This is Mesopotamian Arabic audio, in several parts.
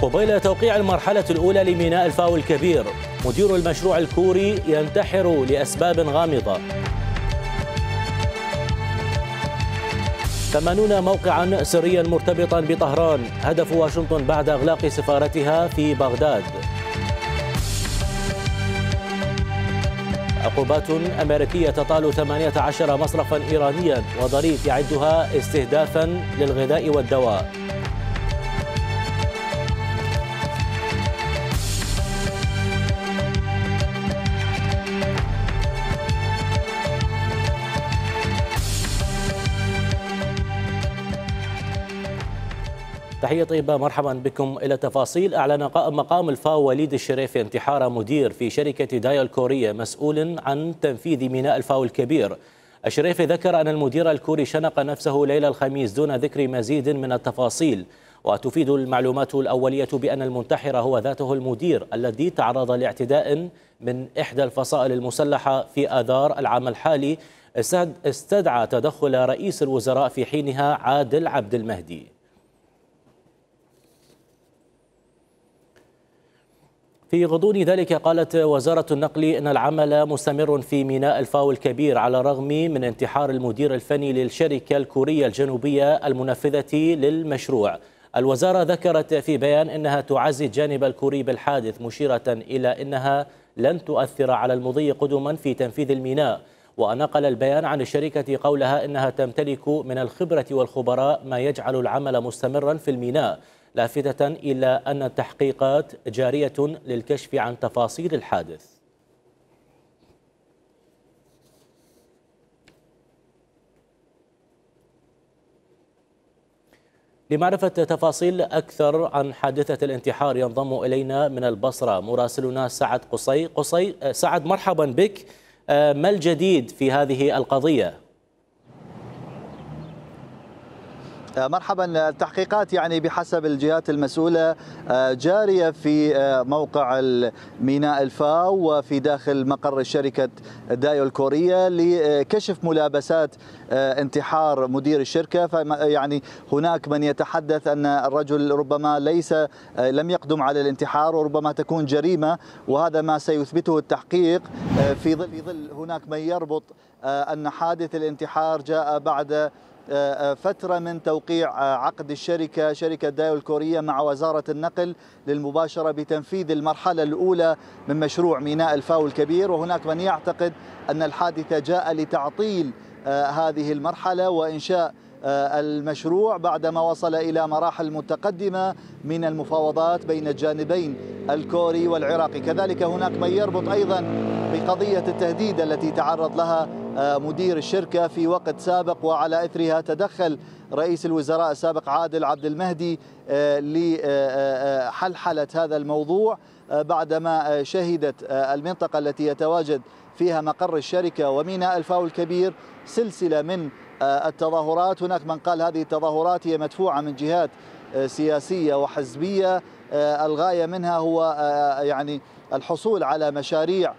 قبيل توقيع المرحلة الأولى لميناء الفاو الكبير، مدير المشروع الكوري ينتحر لأسباب غامضة. 80 موقعا سريا مرتبطا بطهران، هدف واشنطن بعد إغلاق سفارتها في بغداد. عقوبات أمريكية تطال 18 مصرفا إيرانيا، وظريف يعدها استهدافا للغذاء والدواء. تحية طيبة، مرحبا بكم إلى التفاصيل. أعلن مقام الفاو وليد الشريفي انتحار مدير في شركة دايو الكورية مسؤول عن تنفيذ ميناء الفاو الكبير. الشريفي ذكر أن المدير الكوري شنق نفسه ليلة الخميس دون ذكر مزيد من التفاصيل، وتفيد المعلومات الأولية بأن المنتحر هو ذاته المدير الذي تعرض لاعتداء من إحدى الفصائل المسلحة في آذار العام الحالي استدعى تدخل رئيس الوزراء في حينها عادل عبد المهدي. في غضون ذلك قالت وزارة النقل أن العمل مستمر في ميناء الفاو الكبير على الرغم من انتحار المدير الفني للشركة الكورية الجنوبية المنفذة للمشروع. الوزارة ذكرت في بيان أنها تعزي الجانب الكوري بالحادث، مشيرة إلى أنها لن تؤثر على المضي قدما في تنفيذ الميناء. ونقل البيان عن الشركة قولها أنها تمتلك من الخبرة والخبراء ما يجعل العمل مستمرا في الميناء، لافتة إلى أن التحقيقات جارية للكشف عن تفاصيل الحادث. لمعرفة تفاصيل أكثر عن حادثة الانتحار ينضم إلينا من البصرة مراسلنا سعد قصي. سعد، مرحبا بك. ما الجديد في هذه القضية؟ مرحبا. التحقيقات يعني بحسب الجهات المسؤولة جارية في موقع ميناء الفاو وفي داخل مقر الشركة دايو الكورية لكشف ملابسات انتحار مدير الشركة. فيعني هناك من يتحدث أن الرجل ربما لم يقدم على الانتحار، وربما تكون جريمة، وهذا ما سيثبته التحقيق. في ظل هناك من يربط أن حادث الانتحار جاء بعد فترة من توقيع عقد شركة دايو الكورية مع وزارة النقل للمباشرة بتنفيذ المرحلة الأولى من مشروع ميناء الفاو الكبير. وهناك من يعتقد أن الحادثة جاء لتعطيل هذه المرحلة وإنشاء المشروع بعدما وصل إلى مراحل متقدمة من المفاوضات بين الجانبين الكوري والعراقي. كذلك هناك من يربط أيضا بقضية التهديد التي تعرض لها مدير الشركة في وقت سابق، وعلى إثرها تدخل رئيس الوزراء السابق عادل عبد المهدي لحلحلة هذا الموضوع بعدما شهدت المنطقة التي يتواجد فيها مقر الشركة وميناء الفاو الكبير سلسلة من التظاهرات. هناك من قال هذه التظاهرات هي مدفوعة من جهات سياسية وحزبية، الغاية منها هو يعني الحصول على مشاريع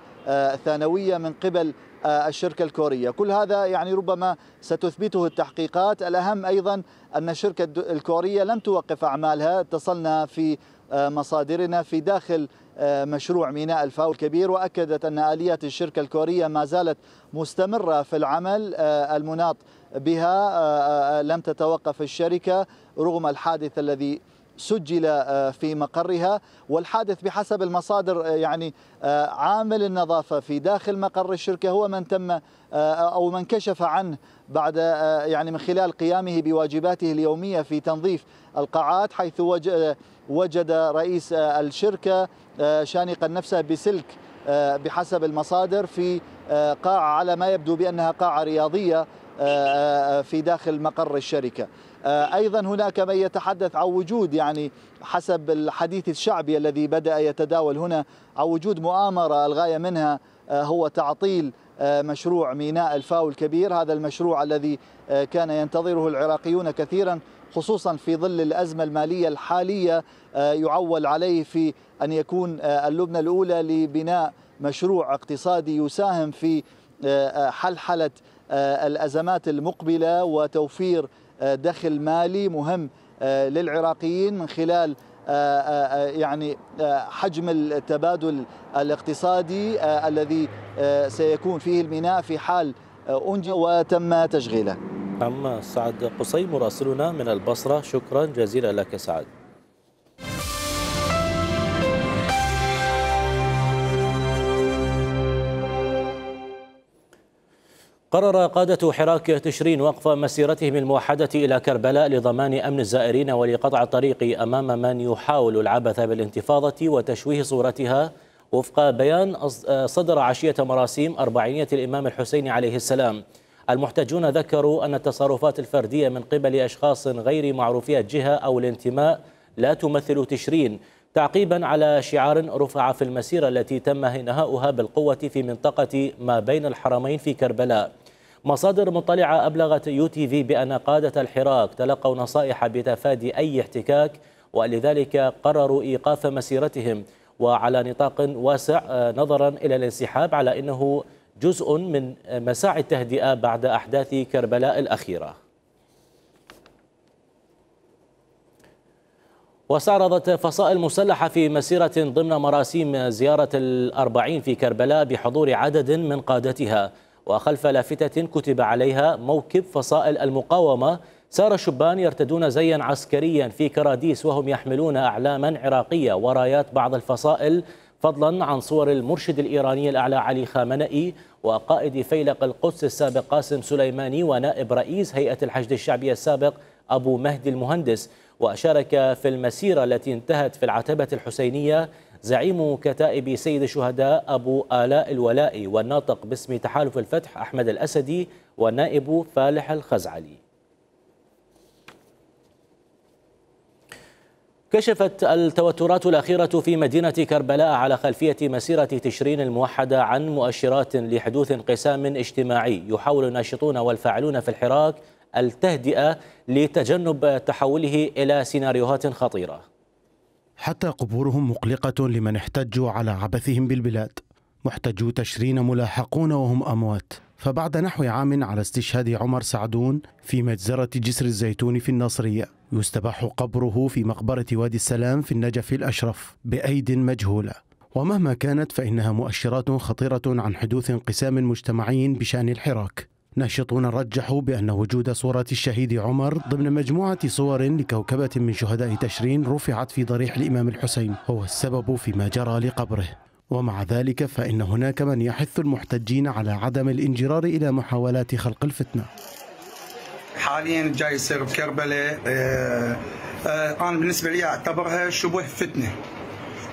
ثانوية من قبل الشركة الكورية. كل هذا يعني ربما ستثبته التحقيقات. الأهم أيضا أن الشركة الكورية لم توقف أعمالها. اتصلنا في مصادرنا في داخل مشروع ميناء الفاو الكبير، وأكدت أن آليات الشركة الكورية ما زالت مستمرة في العمل المناط بها. لم تتوقف الشركة رغم الحادث الذي سجل في مقرها. والحادث بحسب المصادر يعني عامل النظافة في داخل مقر الشركة هو من تم أو من كشف عنه بعد يعني من خلال قيامه بواجباته اليومية في تنظيف القاعات، حيث وجد رئيس الشركة شانقا نفسه بسلك بحسب المصادر في قاعة على ما يبدو بأنها قاعة رياضية في داخل مقر الشركة. أيضا هناك من يتحدث عن وجود يعني حسب الحديث الشعبي الذي بدأ يتداول هنا عن وجود مؤامرة الغاية منها هو تعطيل مشروع ميناء الفاو الكبير، هذا المشروع الذي كان ينتظره العراقيون كثيرا خصوصا في ظل الأزمة المالية الحالية. يعول عليه في أن يكون اللبنة الأولى لبناء مشروع اقتصادي يساهم في حلحلة الأزمات المقبلة وتوفير دخل مالي مهم للعراقيين من خلال يعني حجم التبادل الاقتصادي الذي سيكون فيه الميناء في حال أنجز وتم تشغيله. نعم، سعد قصي مراسلنا من البصرة، شكرا جزيلا لك سعد. قرر قادة حراك تشرين وقف مسيرتهم الموحدة إلى كربلاء لضمان أمن الزائرين ولقطع الطريق أمام من يحاول العبث بالانتفاضة وتشويه صورتها، وفق بيان صدر عشية مراسيم 400 الإمام الحسين عليه السلام. المحتجون ذكروا أن التصرفات الفردية من قبل أشخاص غير معروفي الجهة أو الانتماء لا تمثل تشرين، تعقيبا على شعار رفع في المسيرة التي تم انهاؤها بالقوة في منطقة ما بين الحرمين في كربلاء. مصادر مطلعة أبلغت UTV بأن قادة الحراك تلقوا نصائح بتفادي أي احتكاك، ولذلك قرروا إيقاف مسيرتهم وعلى نطاق واسع نظرا إلى الانسحاب، على أنه جزء من مساعي التهدئة بعد أحداث كربلاء الأخيرة. واستعرضت فصائل مسلحة في مسيرة ضمن مراسيم زيارة ال40 في كربلاء بحضور عدد من قادتها، وخلف لافتة كتب عليها موكب فصائل المقاومة سار شبان يرتدون زيا عسكريا في كراديس وهم يحملون أعلاما عراقية ورايات بعض الفصائل، فضلا عن صور المرشد الإيراني الأعلى علي خامنئي وقائد فيلق القدس السابق قاسم سليماني ونائب رئيس هيئة الحشد الشعبي السابق أبو مهدي المهندس. وشارك في المسيرة التي انتهت في العتبة الحسينية زعيم كتائب سيد الشهداء أبو آلاء الولائي والناطق باسم تحالف الفتح أحمد الأسدي والنائب فالح الخزعلي. كشفت التوترات الأخيرة في مدينة كربلاء على خلفية مسيرة تشرين الموحدة عن مؤشرات لحدوث انقسام اجتماعي يحاول الناشطون والفاعلون في الحراك التهدئة لتجنب تحوله إلى سيناريوهات خطيرة. حتى قبورهم مقلقة لمن احتجوا على عبثهم بالبلاد. محتجو تشرين ملاحقون وهم أموات. فبعد نحو عام على استشهاد عمر سعدون في مجزرة جسر الزيتون في الناصرية، يستباح قبره في مقبرة وادي السلام في النجف الأشرف بأيد مجهولة. ومهما كانت فإنها مؤشرات خطيرة عن حدوث انقسام مجتمعي بشأن الحراك. ناشطون رجحوا بأن وجود صورة الشهيد عمر ضمن مجموعة صور لكوكبة من شهداء تشرين رفعت في ضريح الإمام الحسين هو السبب فيما جرى لقبره. ومع ذلك فإن هناك من يحث المحتجين على عدم الانجرار إلى محاولات خلق الفتنة. حاليا جاي يصير بكربلاء أنا بالنسبة لي أعتبرها شبه فتنة.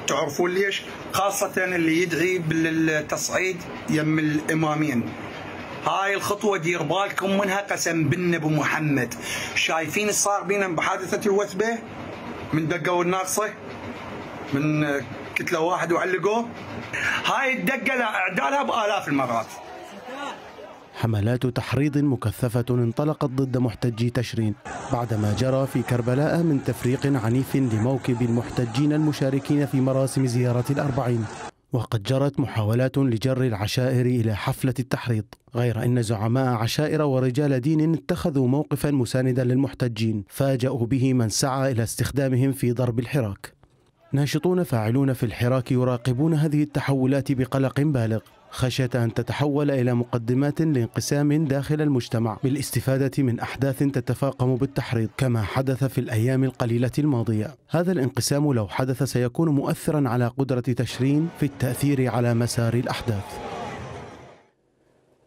تعرفون ليش؟ خاصة اللي يدعي بالتصعيد يم الإمامين. هاي الخطوة دير بالكم منها قسم بالنبي محمد. شايفين الصار بينا بحادثة الوثبة من دقوا الناقصة من كتلة واحد وعلقوه. هاي الدقة لأعدالها بآلاف المرات. حملات تحريض مكثفة انطلقت ضد محتجي تشرين بعدما جرى في كربلاء من تفريق عنيف لموكب المحتجين المشاركين في مراسم زيارة ال40. وقد جرت محاولات لجر العشائر إلى حفلة التحريض، غير أن زعماء عشائر ورجال دين اتخذوا موقفا مساندا للمحتجين فاجأوا به من سعى إلى استخدامهم في ضرب الحراك. ناشطون فاعلون في الحراك يراقبون هذه التحولات بقلق بالغ خشية أن تتحول إلى مقدمات لانقسام داخل المجتمع بالاستفادة من أحداث تتفاقم بالتحريض كما حدث في الأيام القليلة الماضية. هذا الانقسام لو حدث سيكون مؤثرا على قدرة تشرين في التأثير على مسار الأحداث.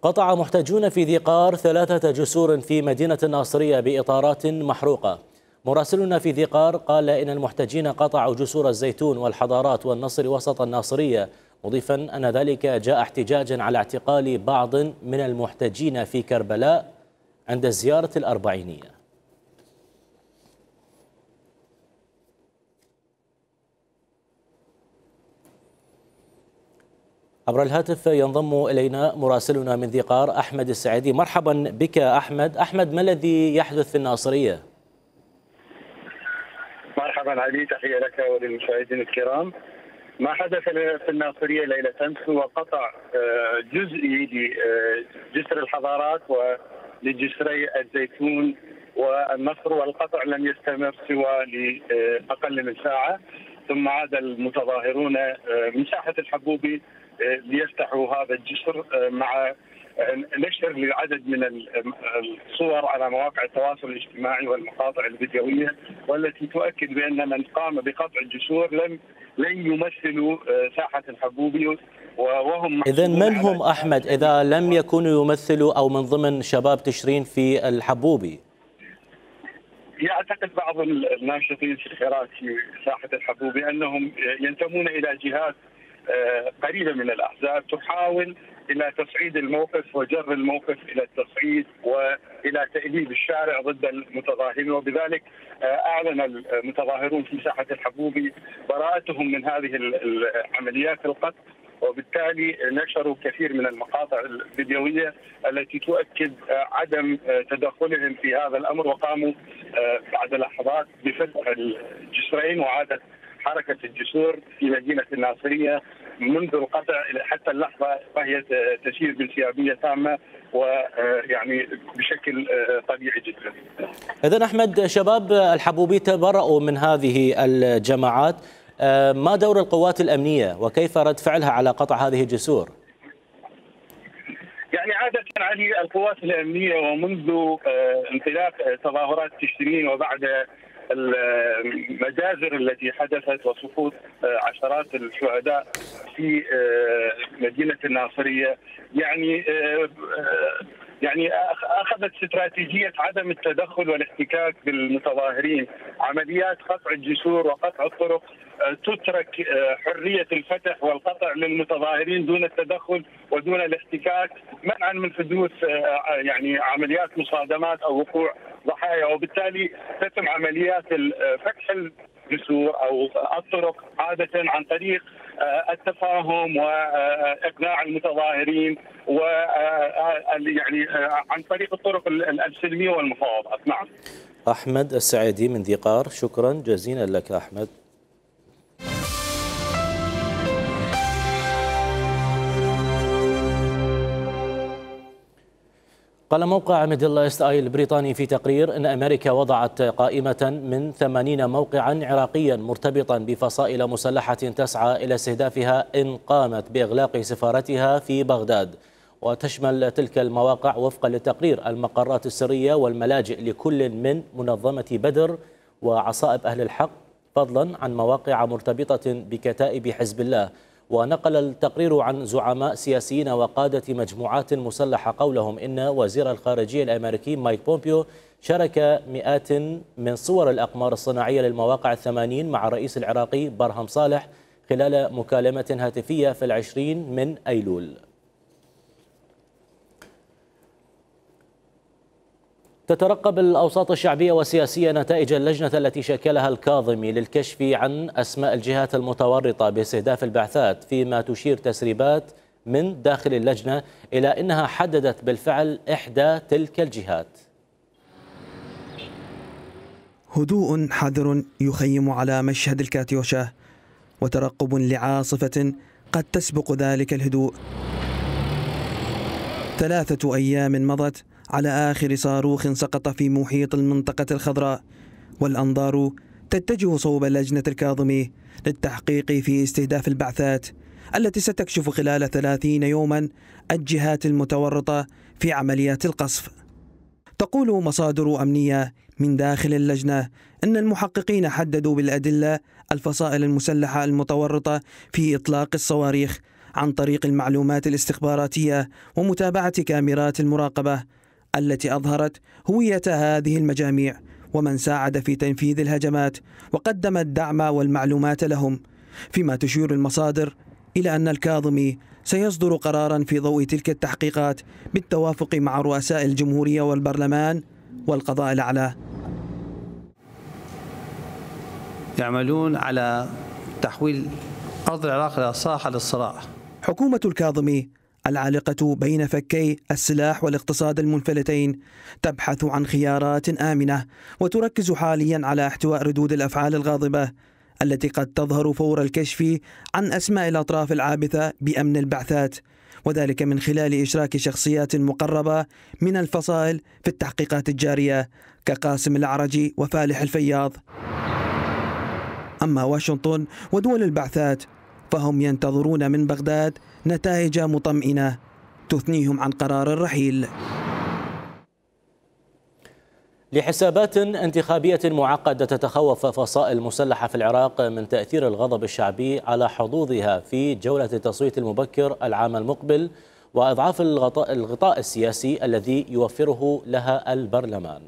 قطع محتجون في ذي قار 3 جسور في مدينة الناصرية بإطارات محروقة. مراسلنا في ذي قار قال إن المحتجين قطعوا جسور الزيتون والحضارات والنصر وسط الناصرية، مضيفا أن ذلك جاء احتجاجا على اعتقال بعض من المحتجين في كربلاء عند زيارة الأربعينية. عبر الهاتف ينضم إلينا مراسلنا من ذي قار أحمد السعيدي. مرحبا بك أحمد. ما الذي يحدث في الناصرية؟ مرحبا علي، تحية لك وللمشاهدين الكرام. ما حدث في الناصرية ليلة أمس هو قطع جزئي لجسر الحضارات ولجسري الزيتون والنصر، والقطع لم يستمر سوى لأقل من ساعة، ثم عاد المتظاهرون من ساحة الحبوبي ليفتحوا هذا الجسر مع نشر لعدد من الصور على مواقع التواصل الاجتماعي والمقاطع الفيديوية، والتي تؤكد بأن من قام بقطع الجسور لن يمثلوا ساحة الحبوبي وهم. إذن من هم أحمد إذا لم يكونوا يمثلوا أو من ضمن شباب تشرين في الحبوبي؟ يعتقد بعض الناشطين في الحراك في ساحة الحبوبي أنهم ينتمون إلى جهات قريبة من الأحزاب تحاول إلى تصعيد الموقف وجر الموقف إلى التصعيد وإلى تأليب الشارع ضد المتظاهرين، وبذلك أعلن المتظاهرون في ساحة الحبوبي براءتهم من هذه العمليات القتل، وبالتالي نشروا كثير من المقاطع الفيديوية التي تؤكد عدم تدخلهم في هذا الأمر، وقاموا بعد لحظات بفتح الجسرين، وعادت حركة الجسور في مدينة الناصرية منذ القطع حتى اللحظة وهي تسير بانسيابية تامة ويعني بشكل طبيعي جدا. إذن أحمد، شباب الحبوبي تبرأوا من هذه الجماعات، ما دور القوات الأمنية وكيف رد فعلها على قطع هذه الجسور؟ يعني عادة علي القوات الأمنية ومنذ انطلاق تظاهرات تشرين وبعد المجازر التي حدثت وسقوط عشرات الشهداء في مدينة الناصرية يعني أخذت استراتيجية عدم التدخل والاحتكاك بالمتظاهرين. عمليات قطع الجسور وقطع الطرق تترك حرية الفتح والقطع للمتظاهرين دون التدخل ودون الاحتكاك، منعا من حدوث يعني عمليات مصادمات أو وقوع ضحايا، وبالتالي تتم عمليات فتح الجسور أو الطرق عادة عن طريق التفاهم وإقناع المتظاهرين يعني عن طريق الطرق السلمية والمفاوضات. نعم. أحمد السعيدي من ذي قار، شكرا جزيلا لك أحمد. قال موقع ميدل إيست آي البريطاني في تقرير أن أمريكا وضعت قائمة من 80 موقعا عراقيا مرتبطا بفصائل مسلحة تسعى إلى استهدافها إن قامت بإغلاق سفارتها في بغداد، وتشمل تلك المواقع وفقا للتقرير المقرات السرية والملاجئ لكل من منظمة بدر وعصائب أهل الحق، فضلا عن مواقع مرتبطة بكتائب حزب الله. ونقل التقرير عن زعماء سياسيين وقادة مجموعات مسلحة قولهم إن وزير الخارجية الأمريكي مايك بومبيو شارك مئات من صور الأقمار الصناعية للمواقع 80 مع الرئيس العراقي برهم صالح خلال مكالمة هاتفية في 20 من أيلول. تترقب الأوساط الشعبية والسياسية نتائج اللجنة التي شكلها الكاظمي للكشف عن أسماء الجهات المتورطة باستهداف البعثات، فيما تشير تسريبات من داخل اللجنة إلى أنها حددت بالفعل إحدى تلك الجهات. هدوء حذر يخيم على مشهد الكاتيوشا، وترقب لعاصفة قد تسبق ذلك الهدوء. 3 أيام مضت على آخر صاروخ سقط في محيط المنطقة الخضراء، والأنظار تتجه صوب لجنة الكاظمي للتحقيق في استهداف البعثات التي ستكشف خلال 30 يوما الجهات المتورطة في عمليات القصف. تقول مصادر أمنية من داخل اللجنة أن المحققين حددوا بالأدلة الفصائل المسلحة المتورطة في إطلاق الصواريخ عن طريق المعلومات الاستخباراتية ومتابعة كاميرات المراقبة التي أظهرت هوية هذه المجاميع ومن ساعد في تنفيذ الهجمات وقدم الدعم والمعلومات لهم، فيما تشير المصادر إلى أن الكاظمي سيصدر قرارا في ضوء تلك التحقيقات بالتوافق مع رؤساء الجمهورية والبرلمان والقضاء الأعلى. يعملون على تحويل أرض العراق إلى ساحة للصراع. حكومة الكاظمي العالقة بين فكي السلاح والاقتصاد المنفلتين تبحث عن خيارات آمنة، وتركز حاليا على احتواء ردود الأفعال الغاضبة التي قد تظهر فور الكشف عن أسماء الأطراف العابثة بأمن البعثات، وذلك من خلال إشراك شخصيات مقربة من الفصائل في التحقيقات الجارية كقاسم الأعرجي وفالح الفياض. أما واشنطن ودول البعثات فهم ينتظرون من بغداد نتائج مطمئنة تثنيهم عن قرار الرحيل. لحسابات انتخابية معقدة تتخوف فصائل مسلحة في العراق من تأثير الغضب الشعبي على حظوظها في جولة التصويت المبكر العام المقبل وإضعاف الغطاء السياسي الذي يوفره لها البرلمان.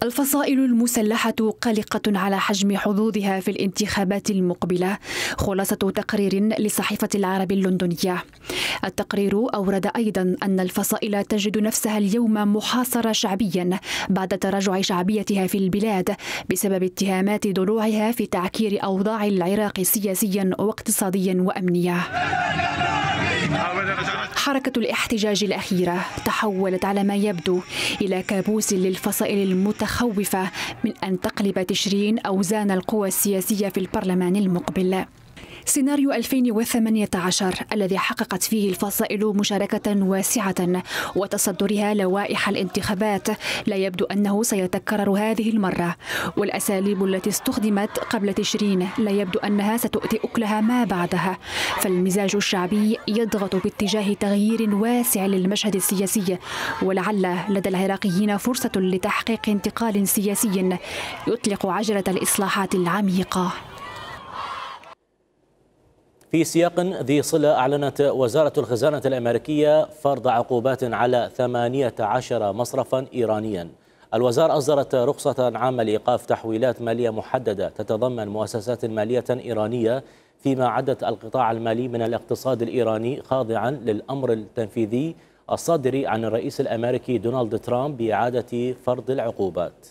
الفصائل المسلحة قلقة على حجم حظوظها في الانتخابات المقبلة، خلاصة تقرير لصحيفة العرب اللندنية. التقرير أورد أيضا أن الفصائل تجد نفسها اليوم محاصرة شعبيا بعد تراجع شعبيتها في البلاد بسبب اتهامات ضلوعها في تعكير أوضاع العراق سياسيا واقتصاديا وأمنيا. حركة الاحتجاج الأخيرة تحولت على ما يبدو إلى كابوس للفصائل المتخوفة من أن تقلب تشرين أوزان القوى السياسية في البرلمان المقبل. سيناريو 2018 الذي حققت فيه الفصائل مشاركة واسعة وتصدرها لوائح الانتخابات لا يبدو أنه سيتكرر هذه المرة، والأساليب التي استخدمت قبل تشرين لا يبدو أنها ستؤتي أكلها ما بعدها، فالمزاج الشعبي يضغط باتجاه تغيير واسع للمشهد السياسي، ولعل لدى العراقيين فرصة لتحقيق انتقال سياسي يطلق عجلة الإصلاحات العميقة. في سياق ذي صلة، أعلنت وزارة الخزانة الأمريكية فرض عقوبات على 18 مصرفا إيرانيا. الوزارة أصدرت رخصة عامة لإيقاف تحويلات مالية محددة تتضمن مؤسسات مالية إيرانية، فيما عدت القطاع المالي من الاقتصاد الإيراني خاضعا للأمر التنفيذي الصادر عن الرئيس الأمريكي دونالد ترامب بإعادة فرض العقوبات.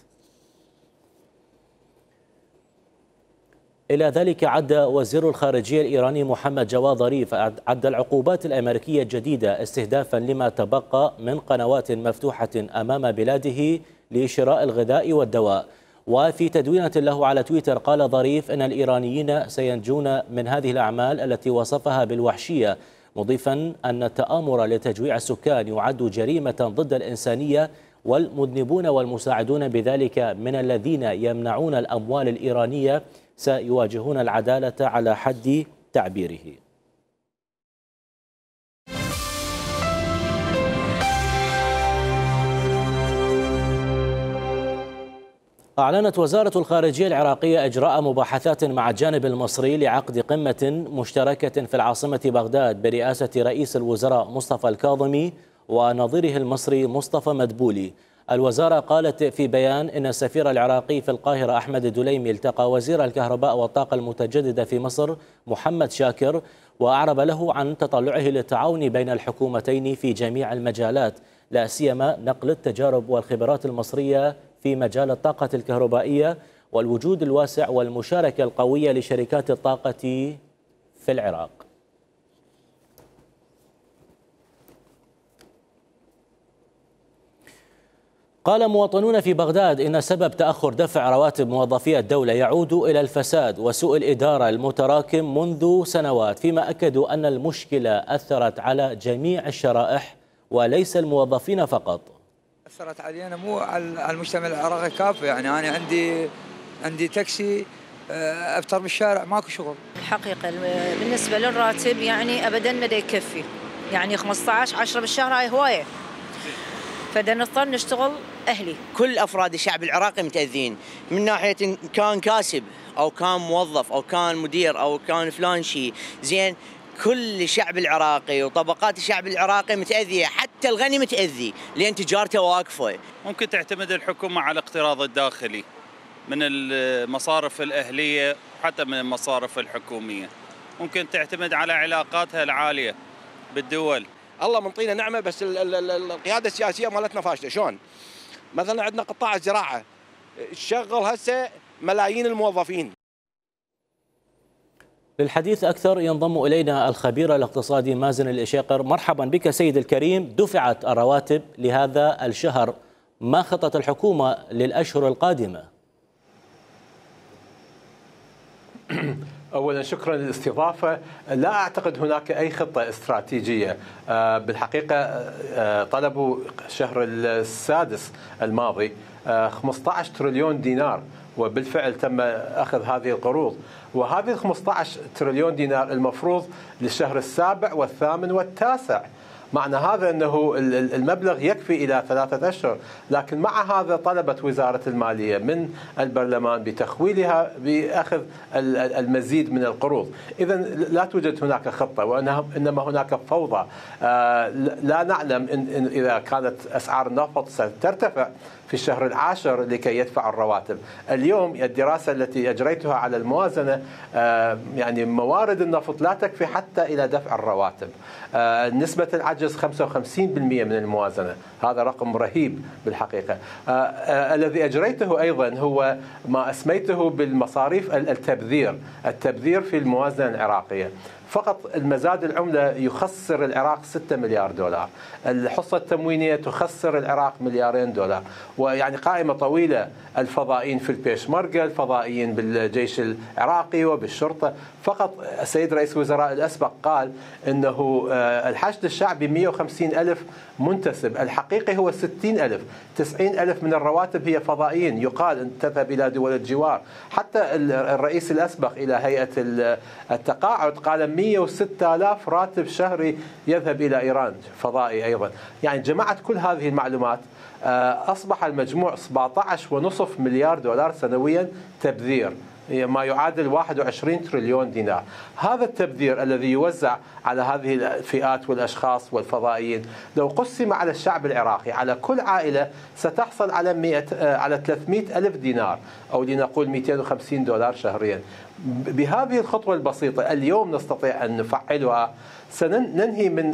إلى ذلك عد وزير الخارجية الإيراني محمد جواد ظريف العقوبات الأمريكية الجديدة استهدافا لما تبقى من قنوات مفتوحة أمام بلاده لشراء الغذاء والدواء. وفي تدوينة له على تويتر قال ظريف أن الإيرانيين سينجون من هذه الأعمال التي وصفها بالوحشية، مضيفا أن التآمر لتجويع السكان يعد جريمة ضد الإنسانية، والمذنبون والمساعدون بذلك من الذين يمنعون الأموال الإيرانية سيواجهون العدالة على حد تعبيره. أعلنت وزارة الخارجية العراقية إجراء مباحثات مع الجانب المصري لعقد قمة مشتركة في العاصمة بغداد برئاسة رئيس الوزراء مصطفى الكاظمي ونظيره المصري مصطفى مدبولي. الوزارة قالت في بيان إن السفير العراقي في القاهرة أحمد الدليمي التقى وزير الكهرباء والطاقة المتجددة في مصر محمد شاكر، وأعرب له عن تطلعه للتعاون بين الحكومتين في جميع المجالات، لا سيما نقل التجارب والخبرات المصرية في مجال الطاقة الكهربائية والوجود الواسع والمشاركة القوية لشركات الطاقة في العراق. قال مواطنون في بغداد إن سبب تأخر دفع رواتب موظفي الدولة يعود إلى الفساد وسوء الإدارة المتراكم منذ سنوات، فيما أكدوا أن المشكلة أثرت على جميع الشرائح وليس الموظفين فقط. أثرت علينا مو على المجتمع العراقي كافة، يعني أنا عندي تاكسي أفطر بالشارع ماكو شغل. الحقيقة بالنسبة للراتب يعني أبدا ما يكفي، يعني 15-10 بالشهر هاي هواية، فدا نضطر نشتغل أهلي. كل أفراد الشعب العراقي متأذين من ناحية إن كان كاسب أو كان موظف أو كان مدير أو كان فلان شيء، زين كل الشعب العراقي وطبقات الشعب العراقي متأذية، حتى الغني متأذي لأن تجارته واقفة. ممكن تعتمد الحكومة على الاقتراض الداخلي من المصارف الأهلية وحتى من المصارف الحكومية، ممكن تعتمد على علاقاتها العالية بالدول. الله منطينا نعمة، بس القيادة السياسية مالتنا فاشلة. شلون؟ مثلا عندنا قطاع الزراعة تشغل هسه ملايين الموظفين. للحديث أكثر ينضم إلينا الخبير الاقتصادي مازن الإشيقر. مرحبا بك سيد الكريم. دفعت الرواتب لهذا الشهر، ما خطة الحكومة للأشهر القادمة؟ أولا شكرا للاستضافة. لا أعتقد هناك أي خطة استراتيجية. بالحقيقة طلبوا الشهر السادس الماضي 15 تريليون دينار، وبالفعل تم أخذ هذه القروض، وهذه 15 تريليون دينار المفروض للشهر السابع والثامن والتاسع. معنى هذا أنه المبلغ يكفي إلى 3 أشهر، لكن مع هذا طلبت وزارة المالية من البرلمان بتخويلها بأخذ المزيد من القروض. إذا لا توجد هناك خطة، وإنما هناك فوضى. لا نعلم إن إذا كانت أسعار النفط سترتفع في الشهر العاشر لكي يدفع الرواتب. اليوم الدراسة التي أجريتها على الموازنة يعني موارد النفط لا تكفي حتى إلى دفع الرواتب. نسبة العجز 55% من الموازنة، هذا رقم رهيب بالحقيقة. الذي أجريته أيضا هو ما أسميته بالمصاريف التبذير في الموازنة العراقية. فقط المزاد العملة يخسر العراق 6 مليار دولار، الحصة التموينية تخسر العراق 2 مليار دولار، ويعني قائمة طويلة. الفضائيين في البيشمركة، الفضائيين بالجيش العراقي وبالشرطة. فقط السيد رئيس الوزراء الأسبق قال أنه الحشد الشعبي 150 ألف منتسب، الحقيقي هو 60 ألف. 90 ألف من الرواتب هي فضائيين، يقال أن تذهب إلى دول الجوار. حتى الرئيس الأسبق إلى هيئة التقاعد قال 106 آلاف راتب شهري يذهب إلى إيران فضائي أيضا. يعني جمعت كل هذه المعلومات، أصبح المجموع 17.5 مليار دولار سنويا تبذير، ما يعادل 21 تريليون دينار. هذا التبذير الذي يوزع على هذه الفئات والأشخاص والفضائيين لو قسم على الشعب العراقي على كل عائلة ستحصل على 300 ألف دينار، أو لنقول 250 دولار شهريا. بهذه الخطوة البسيطة اليوم نستطيع أن نفعلها. سننهي من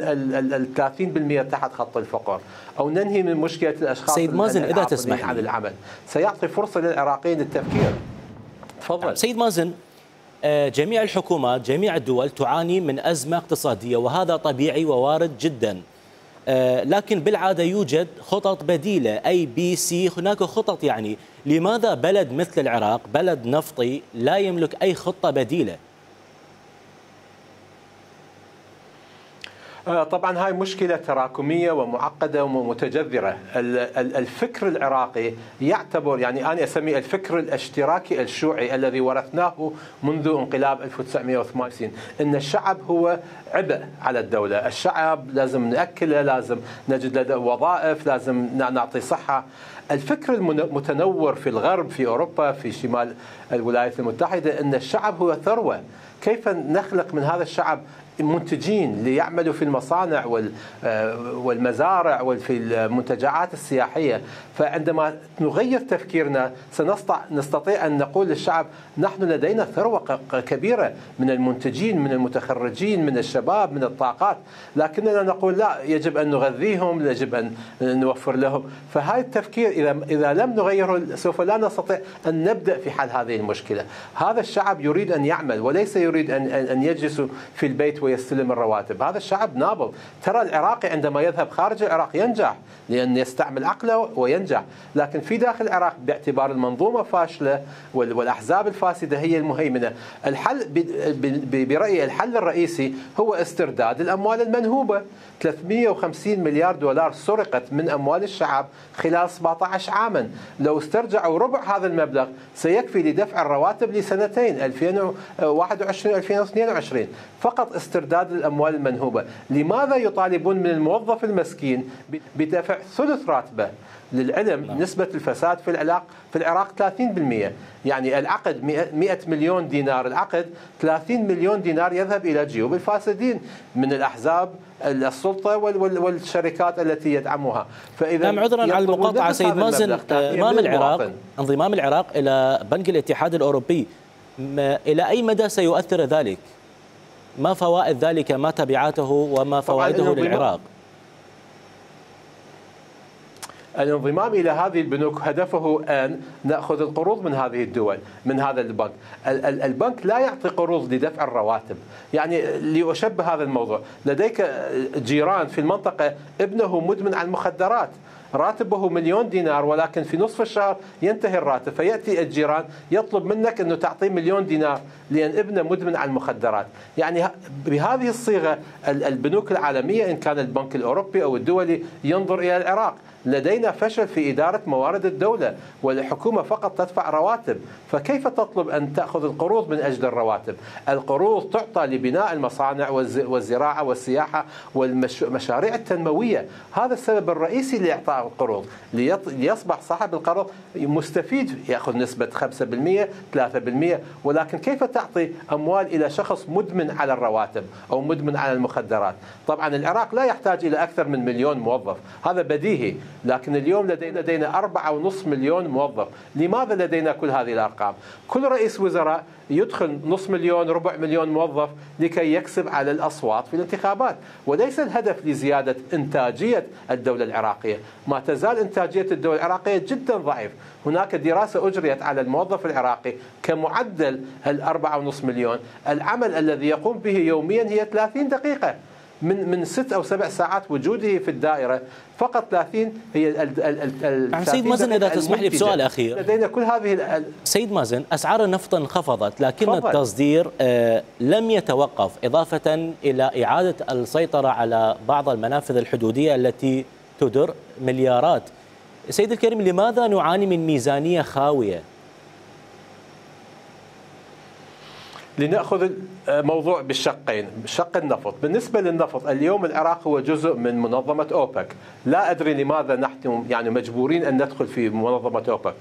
30% تحت خط الفقر، أو ننهي من مشكلة الأشخاص سيد مازن إذا تسمح عن العمل. سيعطي فرصة للعراقيين للتفكير. تفضل سيد مازن. جميع الحكومات، جميع الدول تعاني من أزمة اقتصادية، وهذا طبيعي ووارد جدا، لكن بالعادة يوجد خطط بديلة ABC. هناك خطط، يعني لماذا بلد مثل العراق، بلد نفطي، لا يملك أي خطة بديلة؟ طبعا هاي مشكلة تراكمية ومعقدة ومتجذرة. الفكر العراقي يعتبر، يعني أنا أسميه الفكر الاشتراكي الشيوعي الذي ورثناه منذ انقلاب 1958، إن الشعب هو عبء على الدولة. الشعب لازم نأكله، لازم نجد له وظائف، لازم نعطي صحة. الفكر المتنور في الغرب، في أوروبا، في شمال الولايات المتحدة، أن الشعب هو ثروة. كيف نخلق من هذا الشعب منتجين ليعملوا في المصانع والمزارع وفي المنتجعات السياحية؟ فعندما نغير تفكيرنا نستطيع أن نقول للشعب نحن لدينا ثروة كبيرة من المنتجين، من المتخرجين، من الشباب، من الطاقات، لكننا نقول لا، يجب أن نغذيهم، يجب أن نوفر لهم. فهذا التفكير إذا لم نغيره سوف لا نستطيع أن نبدأ في حل هذه المشكلة. هذا الشعب يريد أن يعمل وليس يريد أن يجلس في البيت ويستلم الرواتب. هذا الشعب نابض. ترى العراقي عندما يذهب خارج العراق ينجح لأن يستعمل عقله وينجح، لكن في داخل العراق باعتبار المنظومة فاشلة والأحزاب الفاسدة هي المهيمنة. الحل برأيي الحل الرئيسي هو استرداد الأموال المنهوبة. 350 مليار دولار سرقت من أموال الشعب خلال 17 عاما. لو استرجعوا ربع هذا المبلغ سيكفي لدفع الرواتب لسنتين 2021 و2022. فقط استرداد الأموال المنهوبة. لماذا يطالبون من الموظف المسكين بدفع ثلث راتبه؟ للعلم نسبة الفساد في العراق 30%. يعني العقد 100 مليون دينار، العقد 30 مليون دينار يذهب إلى جيوب الفاسدين من الأحزاب السلطة والشركات التي يدعمها. فإذا عذرا على المقاطعة سيد مازن، انضمام العراق إلى بنك الاتحاد الأوروبي إلى أي مدى سيؤثر ذلك؟ ما فوائد ذلك؟ ما تبعاته وما فوائده للعراق؟ الانضمام إلى هذه البنوك هدفه أن نأخذ القروض من هذه الدول، من هذا البنك. البنك لا يعطي قروض لدفع الرواتب. يعني لأشبه هذا الموضوع، لديك جيران في المنطقة ابنه مدمن على المخدرات، راتبه مليون دينار ولكن في نصف الشهر ينتهي الراتب، فيأتي الجيران يطلب منك أنه تعطيه مليون دينار لأن ابنه مدمن على المخدرات. يعني بهذه الصيغة البنوك العالمية إن كان البنك الأوروبي أو الدولي ينظر إلى العراق. لدينا فشل في إدارة موارد الدولة والحكومة فقط تدفع رواتب، فكيف تطلب أن تأخذ القروض من أجل الرواتب؟ القروض تعطى لبناء المصانع والزراعة والسياحة والمشاريع التنموية. هذا السبب الرئيسي لإعطاء القروض، ليصبح صاحب القرض مستفيد، يأخذ نسبة 5% 3%. ولكن كيف تعطي أموال إلى شخص مدمن على الرواتب أو مدمن على المخدرات؟ طبعا العراق لا يحتاج إلى أكثر من 1,000,000 موظف، هذا بديهي، لكن اليوم لدينا 4.5 مليون موظف. لماذا لدينا كل هذه الأرقام؟ كل رئيس وزراء يدخل 500,000 ربع مليون موظف لكي يكسب على الأصوات في الانتخابات، وليس الهدف لزيادة إنتاجية الدولة العراقية. ما تزال إنتاجية الدولة العراقية جدا ضعيف. هناك دراسة أجريت على الموظف العراقي كمعدل 4.5 مليون، العمل الذي يقوم به يوميا هي 30 دقيقة من 6 أو 7 ساعات وجوده في الدائرة، فقط 30 هي سيد مازن إذا تسمح لي بسؤال أخير. لدينا كل هذه سيد مازن، أسعار النفط انخفضت لكن التصدير لم يتوقف، إضافة إلى إعادة السيطرة على بعض المنافذ الحدودية التي تدر مليارات. سيد الكريم، لماذا نعاني من ميزانية خاوية؟ لنأخذ الموضوع بالشقين، شق النفط. بالنسبة للنفط اليوم العراق هو جزء من منظمة أوبك، لا أدري لماذا نحن يعني مجبورين أن ندخل في منظمة أوبك.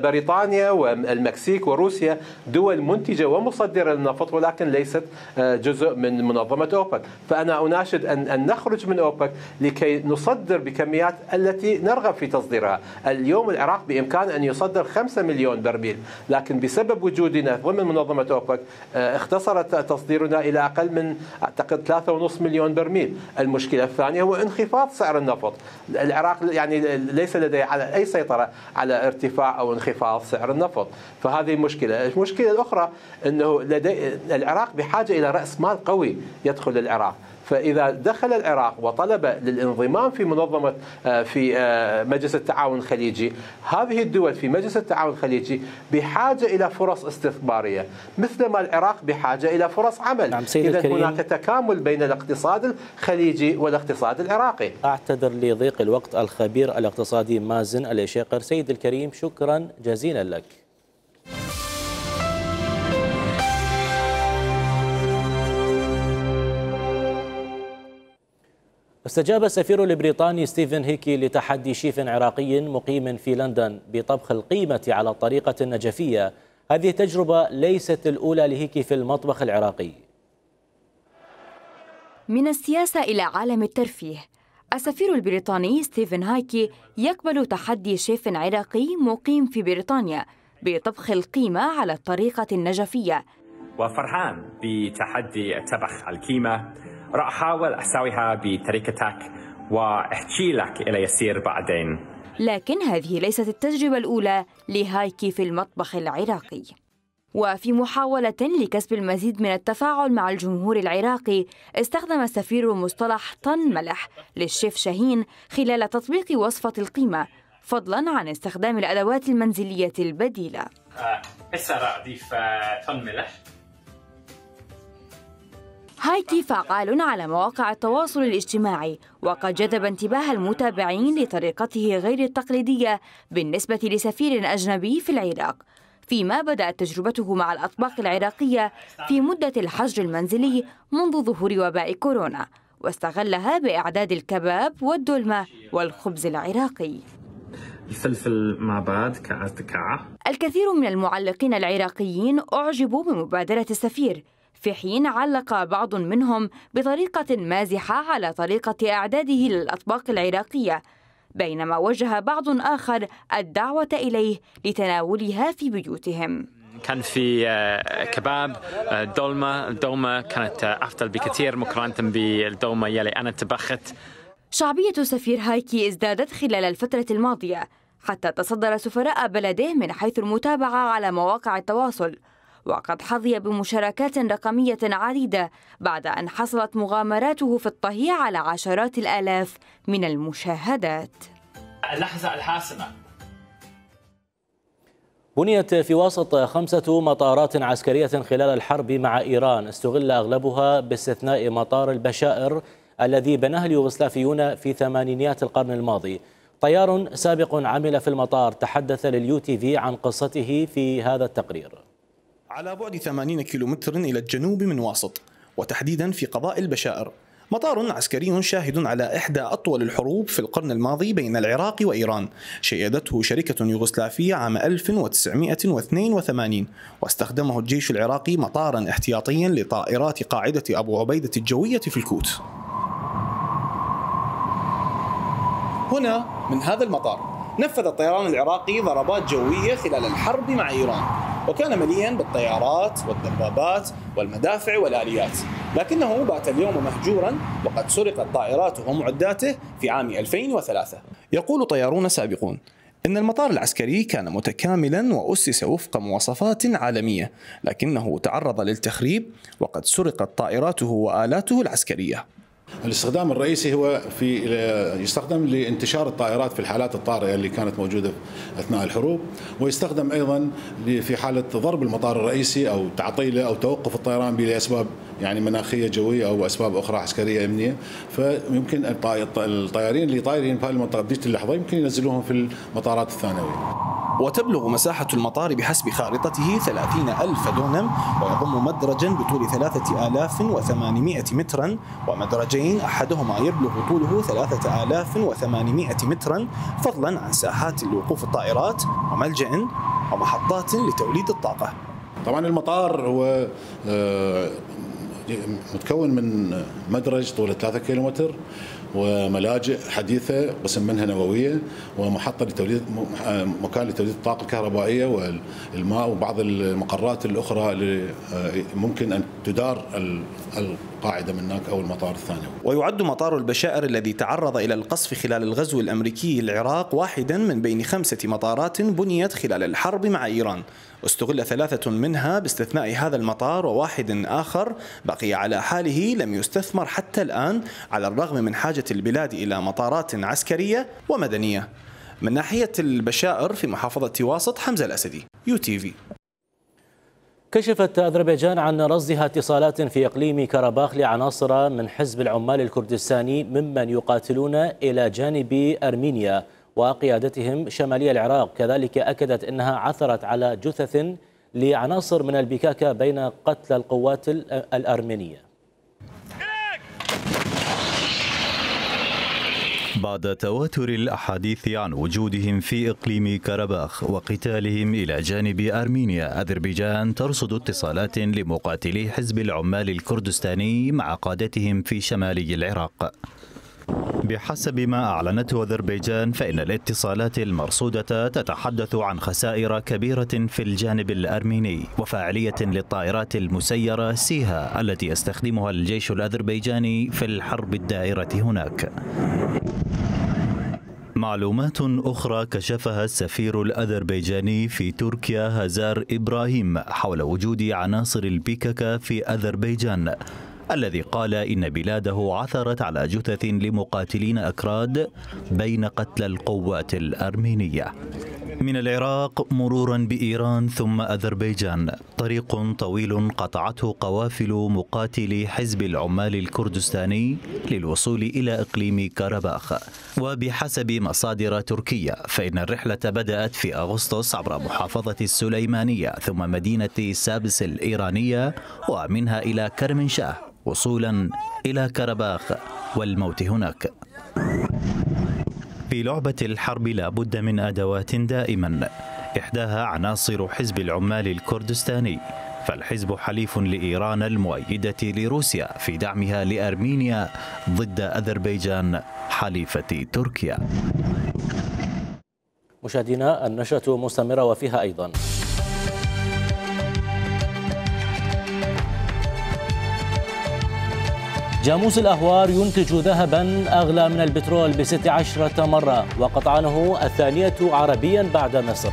بريطانيا والمكسيك وروسيا دول منتجة ومصدرة للنفط ولكن ليست جزء من منظمة أوبك، فأنا أناشد أن نخرج من أوبك لكي نصدر بكميات التي نرغب في تصديرها. اليوم العراق بإمكان أن يصدر 5 مليون برميل، لكن بسبب وجودنا ضمن منظمة أوبك اختصرت تصديرنا إلى أقل من أعتقد 3.5 مليون برميل. المشكلة الثانية هو انخفاض سعر النفط. العراق يعني ليس لديه على أي سيطرة على ارتفاع أو انخفاض سعر النفط، فهذه مشكلة. المشكلة الأخرى أنه العراق بحاجة إلى رأس مال قوي يدخل العراق، فإذا دخل العراق وطلب للانضمام في منظمة في مجلس التعاون الخليجي، هذه الدول في مجلس التعاون الخليجي بحاجة إلى فرص استثمارية مثلما العراق بحاجة إلى فرص عمل. إذا هناك تكامل بين الاقتصاد الخليجي والاقتصاد العراقي. أعتذر لضيق الوقت. الخبير الاقتصادي مازن الإشيقر. سيد الكريم، شكرا جزيلا لك. استجاب السفير البريطاني ستيفن هيكي لتحدي شيف عراقي مقيم في لندن بطبخ القيمة على الطريقة النجفية. هذه التجربة ليست الأولى لهيكي في المطبخ العراقي. من السياسة إلى عالم الترفيه، السفير البريطاني ستيفن هيكي يقبل تحدي شيف عراقي مقيم في بريطانيا بطبخ القيمة على الطريقة النجفية. وفرحان بتحدي طبخ القيمة، راح أحاول أسويها بطريقتك وأحكي لك إلى يصير بعدين. لكن هذه ليست التجربة الأولى لهايكي في المطبخ العراقي. وفي محاولة لكسب المزيد من التفاعل مع الجمهور العراقي، استخدم السفير مصطلح طن ملح للشيف شاهين خلال تطبيق وصفة القيمة، فضلا عن استخدام الأدوات المنزلية البديلة. هسه راح أضيف طن ملح. هايكي فعال على مواقع التواصل الاجتماعي، وقد جذب انتباه المتابعين لطريقته غير التقليدية بالنسبة لسفير أجنبي في العراق، فيما بدأت تجربته مع الأطباق العراقية في مدة الحجر المنزلي منذ ظهور وباء كورونا، واستغلها بإعداد الكباب والدولمة والخبز العراقي. الفلفل مع بعض كعكعة. الكثير من المعلقين العراقيين أعجبوا بمبادرة السفير، في حين علق بعض منهم بطريقة مازحة على طريقة إعداده للأطباق العراقية، بينما وجه بعض آخر الدعوة إليه لتناولها في بيوتهم. كان في كباب الدولمة كانت أفضل بكثير مقارنة بالدولمة يلي أنا طبخت. شعبية السفير هايكي ازدادت خلال الفترة الماضية، حتى تصدر سفراء بلده من حيث المتابعة على مواقع التواصل، وقد حظي بمشاركات رقمية عديدة بعد أن حصلت مغامراته في الطهي على عشرات الآلاف من المشاهدات. اللحظة الحاسمة. بنيت في واسط 5 مطارات عسكرية خلال الحرب مع إيران استغل أغلبها باستثناء مطار البشائر الذي بناه اليوغوسلافيون في ثمانينيات القرن الماضي. طيار سابق عمل في المطار تحدث للUTV عن قصته في هذا التقرير. على بعد 80 كيلومتر إلى الجنوب من واسط، وتحديدا في قضاء البشائر، مطار عسكري شاهد على إحدى أطول الحروب في القرن الماضي بين العراق وإيران، شيدته شركة يوغوسلافية عام 1982، واستخدمه الجيش العراقي مطارا احتياطيا لطائرات قاعدة أبو عبيدة الجوية في الكوت. هنا من هذا المطار نفذ الطيران العراقي ضربات جوية خلال الحرب مع إيران، وكان مليئا بالطيارات والدبابات والمدافع والآليات، لكنه بات اليوم مهجورا وقد سرقت طائراته ومعداته في عام 2003. يقول طيارون سابقون إن المطار العسكري كان متكاملا وأسس وفق مواصفات عالمية، لكنه تعرض للتخريب وقد سرقت طائراته وآلاته العسكرية. الاستخدام الرئيسي هو يستخدم لانتشار الطائرات في الحالات الطارئة اللي كانت موجودة أثناء الحروب، ويستخدم أيضا في حالة ضرب المطار الرئيسي أو تعطيله أو توقف الطيران لأسباب يعني مناخية جوية أو أسباب أخرى عسكرية أمنية. فيمكن الطيارين اللي طايرين في هذه المنطقة بديت اللحظة يمكن ينزلوهم في المطارات الثانوية. وتبلغ مساحة المطار بحسب خارطته 30,000 دونم، ويضم مدرجا بطول 3800 مترا ومدرجين أحدهما يبلغ طوله 3800 مترا، فضلا عن ساحات لوقوف الطائرات وملجأ ومحطات لتوليد الطاقة. طبعا المطار هو متكون من مدرج طوله 3 كيلومتر وملاجئ حديثة قسم منها نووية ومحطة لتوليد مكان لتوليد الطاقة الكهربائية والماء وبعض المقرات الأخرى اللي ممكن أن تدار القاعدة من هناك أو المطار الثانوي. ويعد مطار البشائر الذي تعرض إلى القصف خلال الغزو الأمريكي للعراق واحدا من بين 5 مطارات بنيت خلال الحرب مع إيران، واستغل 3 منها باستثناء هذا المطار، وواحد آخر بقي على حاله لم يستثمر حتى الآن على الرغم من حاجة البلاد إلى مطارات عسكرية ومدنية. من ناحية البشائر في محافظة واسط، حمزة الأسدي، UTV. كشفت أذربيجان عن رصدها اتصالات في إقليم كرباخ لعناصر من حزب العمال الكردستاني ممن يقاتلون إلى جانب أرمينيا وقيادتهم شمالي العراق. كذلك أكدت أنها عثرت على جثث لعناصر من البكاكة بين قتلى القوات الأرمينية. بعد تواتر الأحاديث عن وجودهم في إقليم كرباخ وقتالهم إلى جانب أرمينيا، أذربيجان ترصد اتصالات لمقاتلي حزب العمال الكردستاني مع قادتهم في شمالي العراق. بحسب ما أعلنته أذربيجان، فإن الاتصالات المرصودة تتحدث عن خسائر كبيرة في الجانب الأرميني وفاعلية للطائرات المسيرة سيها التي يستخدمها الجيش الأذربيجاني في الحرب الدائرة هناك. معلومات أخرى كشفها السفير الأذربيجاني في تركيا هزار إبراهيم حول وجود عناصر البيكاكا في أذربيجان، الذي قال إن بلاده عثرت على جثث لمقاتلين أكراد بين قتلى القوات الأرمينية. من العراق مرورا بإيران ثم أذربيجان، طريق طويل قطعته قوافل مقاتلي حزب العمال الكردستاني للوصول إلى إقليم كرباخ. وبحسب مصادر تركية، فإن الرحلة بدأت في أغسطس عبر محافظة السليمانية ثم مدينة سابس الإيرانية ومنها إلى كرمنشاه وصولا إلى كرباخ والموت هناك. في لعبة الحرب لا بد من أدوات دائما، إحداها عناصر حزب العمال الكردستاني، فالحزب حليف لإيران المؤيدة لروسيا في دعمها لأرمينيا ضد أذربيجان حليفة تركيا. مشاهدينا، النشرة مستمرة وفيها أيضا: جاموس الأهوار ينتج ذهبا أغلى من البترول ب16 مرة، وقطعانه الثانية عربيا بعد مصر.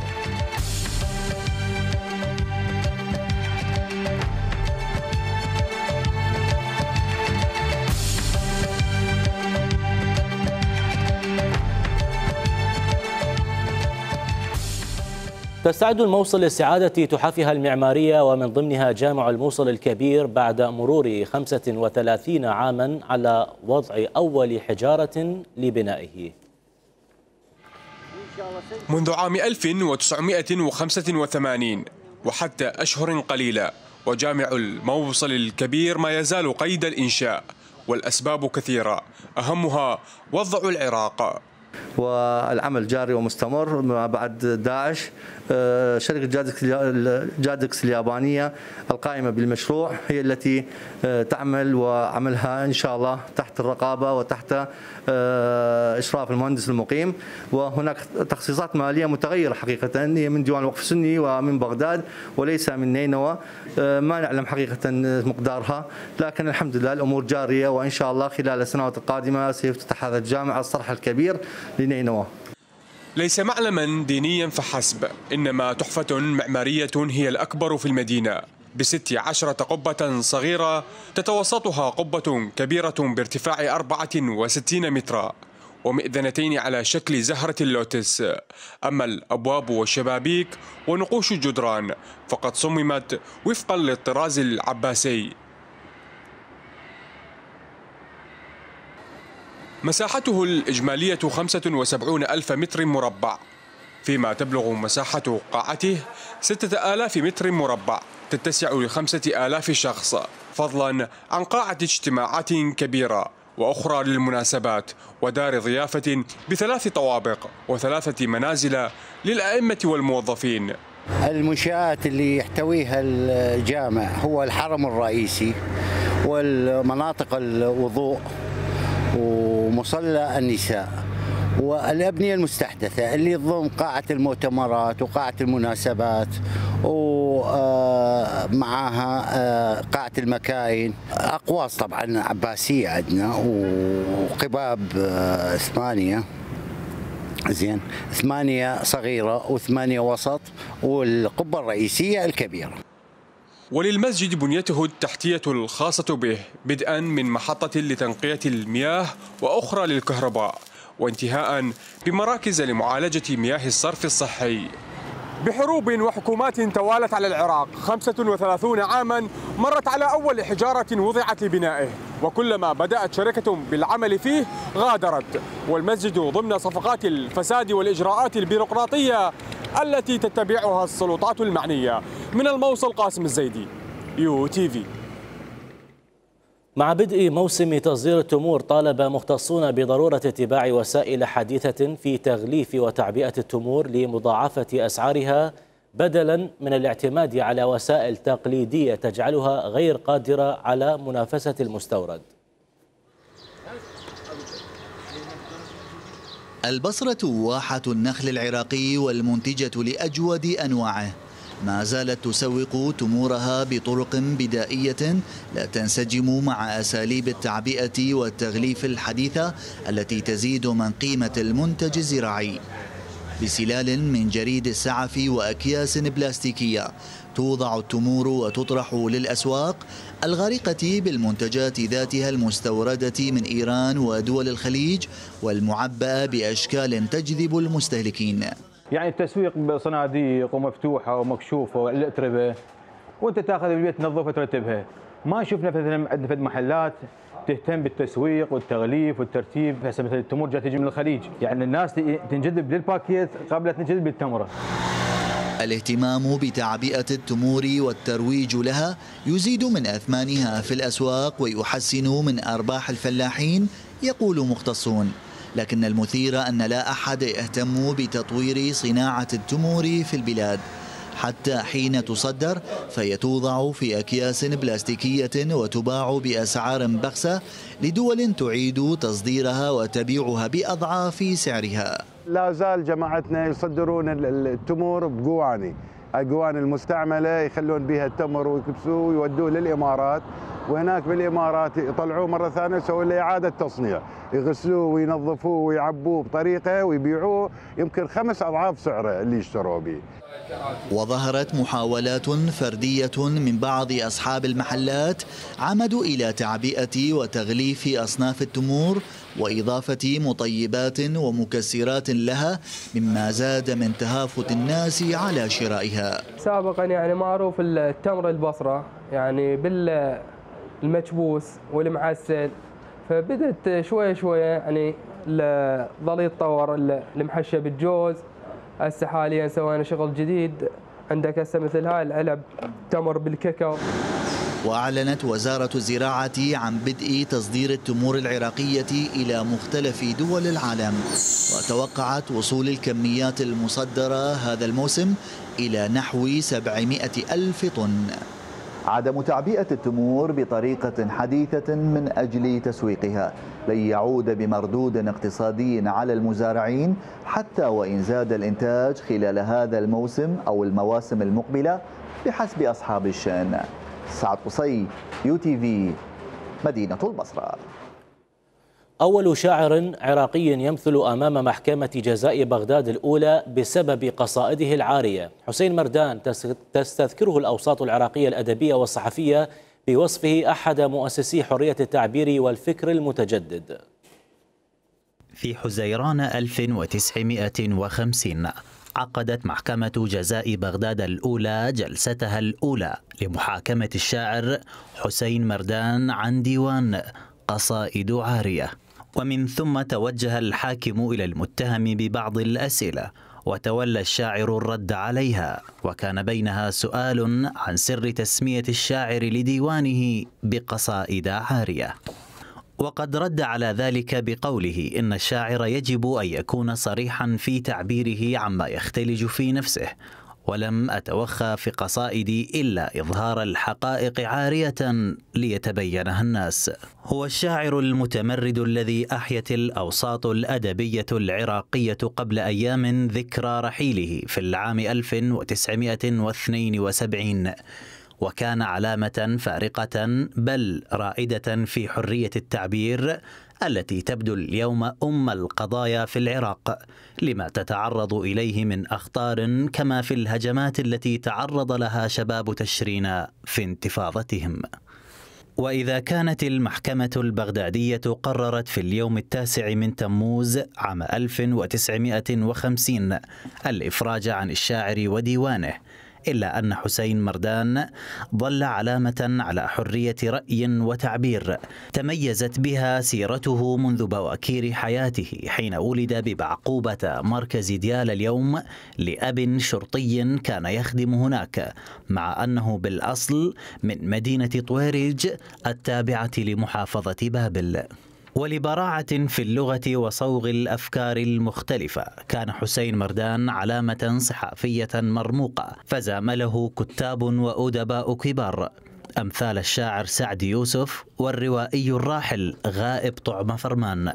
تستعد الموصل لاستعادة تحافها المعمارية ومن ضمنها جامع الموصل الكبير بعد مرور 35 عاما على وضع أول حجارة لبنائه. منذ عام 1985 وحتى أشهر قليلة وجامع الموصل الكبير ما يزال قيد الإنشاء، والأسباب كثيرة أهمها وضع العراق. والعمل جاري ومستمر ما بعد داعش. شركة جادكس اليابانية القائمة بالمشروع هي التي تعمل، وعملها إن شاء الله تحت الرقابة وتحت إشراف المهندس المقيم. وهناك تخصيصات مالية متغيرة حقيقة، هي من ديوان الوقف السني ومن بغداد وليس من نينوى. ما نعلم حقيقة مقدارها، لكن الحمد لله الأمور جارية، وإن شاء الله خلال السنوات القادمة سيفتتح هذا الجامع الصرح الكبير لنينوى. ليس معلما دينيا فحسب، إنما تحفة معمارية هي الأكبر في المدينة ب16 قبة صغيرة تتوسطها قبة كبيرة بارتفاع 64 مترا ومئذنتين على شكل زهرة اللوتس. أما الأبواب والشبابيك ونقوش الجدران فقد صممت وفقا للطراز العباسي. مساحته الإجمالية 75 ألف متر مربع، فيما تبلغ مساحة قاعته 6000 متر مربع تتسع ل5000 شخص، فضلا عن قاعة اجتماعات كبيرة وأخرى للمناسبات ودار ضيافة ب3 طوابق و3 منازل للأئمة والموظفين. المنشآت اللي يحتويها الجامع هو الحرم الرئيسي والمناطق الوضوء ومصلى النساء والأبنية المستحدثة اللي تضم قاعة المؤتمرات وقاعة المناسبات ومعها قاعة المكاين. أقواس طبعا عباسية عندنا وقباب 8 زين، 8 صغيرة و8 وسط والقبة الرئيسية الكبيرة. وللمسجد بنيته التحتية الخاصة به، بدءا من محطة لتنقية المياه وأخرى للكهرباء، وانتهاء بمراكز لمعالجة مياه الصرف الصحي. بحروب وحكومات توالت على العراق 35 عاما مرت على أول حجارة وضعت لبنائه، وكلما بدأت شركة بالعمل فيه غادرت، والمسجد ضمن صفقات الفساد والإجراءات البيروقراطية التي تتبعها السلطات المعنية. من الموصل قاسم الزيدي، UTV. مع بدء موسم تصدير التمور، طالب مختصون بضرورة اتباع وسائل حديثة في تغليف وتعبئة التمور لمضاعفة أسعارها، بدلا من الاعتماد على وسائل تقليدية تجعلها غير قادرة على منافسة المستورد. البصرة واحة النخل العراقي والمنتجة لأجود أنواعه، ما زالت تسوق تمورها بطرق بدائية لا تنسجم مع أساليب التعبئة والتغليف الحديثة التي تزيد من قيمة المنتج الزراعي. بسلال من جريد السعف وأكياس بلاستيكية توضع التمور وتطرح للأسواق الغارقة بالمنتجات ذاتها المستوردة من إيران ودول الخليج والمعبأة بأشكال تجذب المستهلكين. يعني التسويق بصناديق ومفتوحة ومكشوفة والأتربة، وأنت تاخذ البيت تنظفها وترتبها. ما شفنا مثلا عندنا في محلات تهتم بالتسويق والتغليف والترتيب. هسه مثلا التمور جايه تجي من الخليج، يعني الناس تنجذب للباكيت قبل تنجذب للتمره. الاهتمام بتعبئة التمور والترويج لها يزيد من أثمانها في الأسواق ويحسن من أرباح الفلاحين، يقول مختصون. لكن المثير أن لا أحد يهتم بتطوير صناعة التمور في البلاد، حتى حين تصدر فهي توضع في أكياس بلاستيكية وتباع بأسعار بخسة لدول تعيد تصديرها وتبيعها بأضعاف سعرها. لا زال جماعتنا يصدرون التمور بقواني، القواني المستعملة يخلون بها التمر ويكبسوه ويودوه للإمارات، وهناك بالإمارات يطلعوه مرة ثانية يسوون له إعادة تصنيع، يغسلوه وينظفوه ويعبوه بطريقة ويبيعوه يمكن 5 أضعاف سعره اللي يشتروه به. وظهرت محاولات فردية من بعض أصحاب المحلات عمدوا إلى تعبئة وتغليف أصناف التمور وإضافة مطيبات ومكسرات لها، مما زاد من تهافت الناس على شرائها. سابقا يعني معروف التمر البصرة يعني بالمكبوس والمعسل، فبدت شوية شوية يعني ظل يتطور المحشى بالجوز. هسه حاليا سوينا شغل جديد، عندك هسه مثل هاي العلب تمر بالكاكاو. وأعلنت وزارة الزراعة عن بدء تصدير التمور العراقية إلى مختلف دول العالم، وتوقعت وصول الكميات المصدرة هذا الموسم إلى نحو 700 ألف طن. عدم تعبئة التمور بطريقة حديثة من أجل تسويقها لن يعود بمردود اقتصادي على المزارعين، حتى وإن زاد الإنتاج خلال هذا الموسم أو المواسم المقبلة بحسب أصحاب الشأن. سعد قصي، UTV، مدينة البصرة. أول شاعر عراقي يمثل أمام محكمة جزاء بغداد الأولى بسبب قصائده العارية. حسين مردان تستذكره الأوساط العراقية الأدبية والصحفية بوصفه أحد مؤسسي حرية التعبير والفكر المتجدد. في حزيران 1950 عقدت محكمة جزاء بغداد الأولى جلستها الأولى لمحاكمة الشاعر حسين مردان عن ديوان قصائد عارية، ومن ثم توجه الحاكم إلى المتهم ببعض الأسئلة، وتولى الشاعر الرد عليها، وكان بينها سؤال عن سر تسمية الشاعر لديوانه بقصائد عارية. وقد رد على ذلك بقوله إن الشاعر يجب أن يكون صريحا في تعبيره عما يختلج في نفسه، ولم أتوخى في قصائدي إلا إظهار الحقائق عارية ليتبينها الناس. هو الشاعر المتمرد الذي أحيت الأوساط الأدبية العراقية قبل أيام ذكرى رحيله في العام 1972، وكان علامة فارقة بل رائدة في حرية التعبير التي تبدو اليوم أم القضايا في العراق، لما تتعرض إليه من أخطار كما في الهجمات التي تعرض لها شباب تشرين في انتفاضتهم. وإذا كانت المحكمة البغدادية قررت في اليوم 9 من تموز عام 1950 الإفراج عن الشاعر وديوانه، إلا أن حسين مردان ظل علامة على حرية رأي وتعبير تميزت بها سيرته منذ بواكير حياته، حين ولد ببعقوبة مركز ديال اليوم لأب شرطي كان يخدم هناك، مع أنه بالأصل من مدينة طويرج التابعة لمحافظة بابل. ولبراعة في اللغة وصوغ الأفكار المختلفة كان حسين مردان علامة صحافية مرموقة، فزامله كتاب وأدباء كبار أمثال الشاعر سعد يوسف والروائي الراحل غائب طعم فرمان.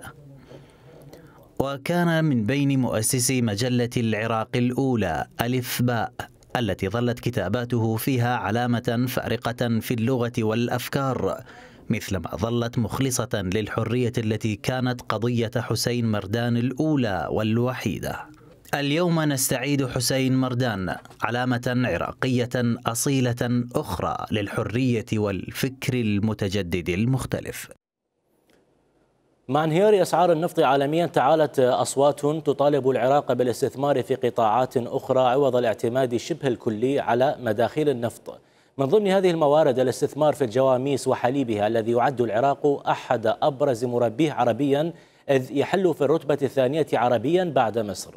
وكان من بين مؤسسي مجلة العراق الأولى ألف باء، التي ظلت كتاباته فيها علامة فارقة في اللغة والأفكار، مثلما ظلت مخلصة للحرية التي كانت قضية حسين مردان الأولى والوحيدة. اليوم نستعيد حسين مردان، علامة عراقية أصيلة أخرى للحرية والفكر المتجدد المختلف. مع انهيار أسعار النفط عالميا تعالت أصوات تطالب العراق بالاستثمار في قطاعات أخرى عوض الاعتماد شبه الكلي على مداخيل النفط. من ضمن هذه الموارد الاستثمار في الجواميس وحليبها، الذي يعد العراق أحد أبرز مربيه عربيا، إذ يحل في الرتبة الثانية عربيا بعد مصر.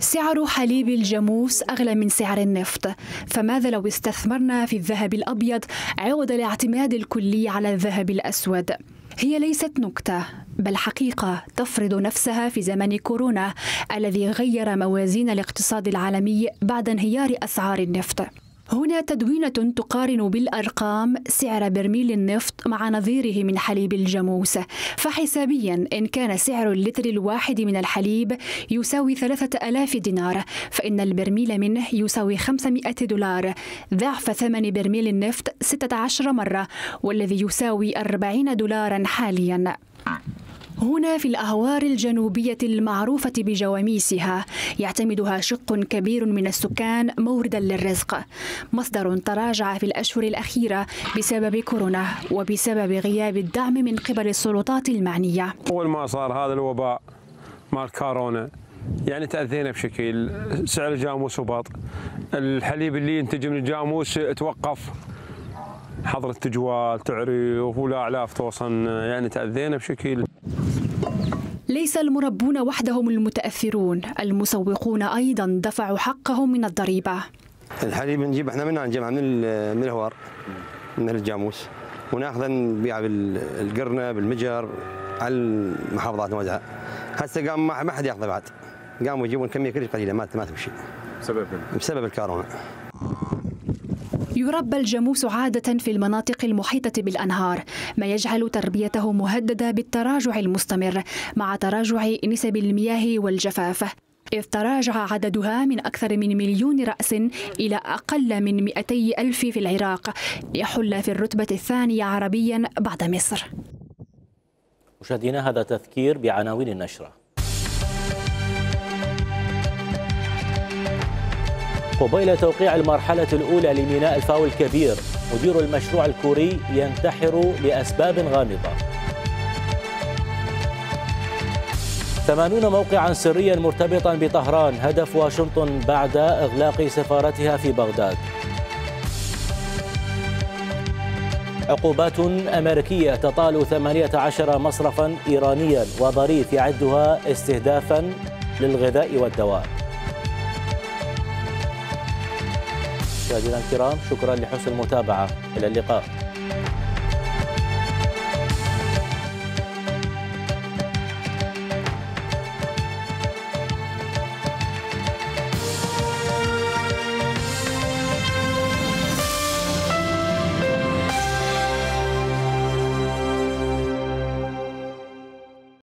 سعر حليب الجاموس أغلى من سعر النفط، فماذا لو استثمرنا في الذهب الأبيض عوض الاعتماد الكلي على الذهب الأسود؟ هي ليست نكتة بل حقيقة تفرض نفسها في زمن كورونا الذي غير موازين الاقتصاد العالمي بعد انهيار أسعار النفط. هنا تدوينة تقارن بالأرقام سعر برميل النفط مع نظيره من حليب الجاموس، فحسابيا إن كان سعر اللتر الواحد من الحليب يساوي 3000 دينار، فإن البرميل منه يساوي 500 دولار، ضعف ثمن برميل النفط 16 مرة، والذي يساوي 40 دولارا حاليا. هنا في الأهوار الجنوبية المعروفة بجواميسها يعتمدها شق كبير من السكان موردا للرزق، مصدر تراجع في الأشهر الأخيرة بسبب كورونا وبسبب غياب الدعم من قبل السلطات المعنية. أول ما صار هذا الوباء مال كورونا يعني تأذينا بشكل، سعر الجاموس هبط، الحليب اللي ينتج من الجاموس توقف، حظر التجوال تعرف ولا أعلاف توصل، يعني تأذينا بشكل. ليس المربون وحدهم المتأثرون، المسوقون أيضا دفعوا حقهم من الضريبة. الحليب نجيب احنا نجمعه من الهوار من الجاموس وناخذه نبيعه بالقرنه بالمجر على المحافظات نوزعها. هسه قام ما حد ياخذه بعد، قاموا يجيبون كميه كلش قليله ما تمشي بسبب الكورونا. يربى الجاموس عادة في المناطق المحيطة بالأنهار، ما يجعل تربيته مهددة بالتراجع المستمر مع تراجع نسب المياه والجفاف، إذ تراجع عددها من أكثر من 1,000,000 رأس إلى أقل من 200,000 في العراق، يحل في الرتبة الثانية عربيا بعد مصر. مشاهدينا هذا تذكير بعناوين النشرة. قبيل توقيع المرحلة الأولى لميناء الفاو الكبير، مدير المشروع الكوري ينتحر لأسباب غامضة. 80 موقعا سريا مرتبطا بطهران هدف واشنطن بعد إغلاق سفارتها في بغداد. عقوبات أمريكية تطال 18 مصرفا إيرانيا وظريف يعدها استهدافا للغذاء والدواء. مشاهدينا الكرام، شكرا لحسن المتابعة، إلى اللقاء.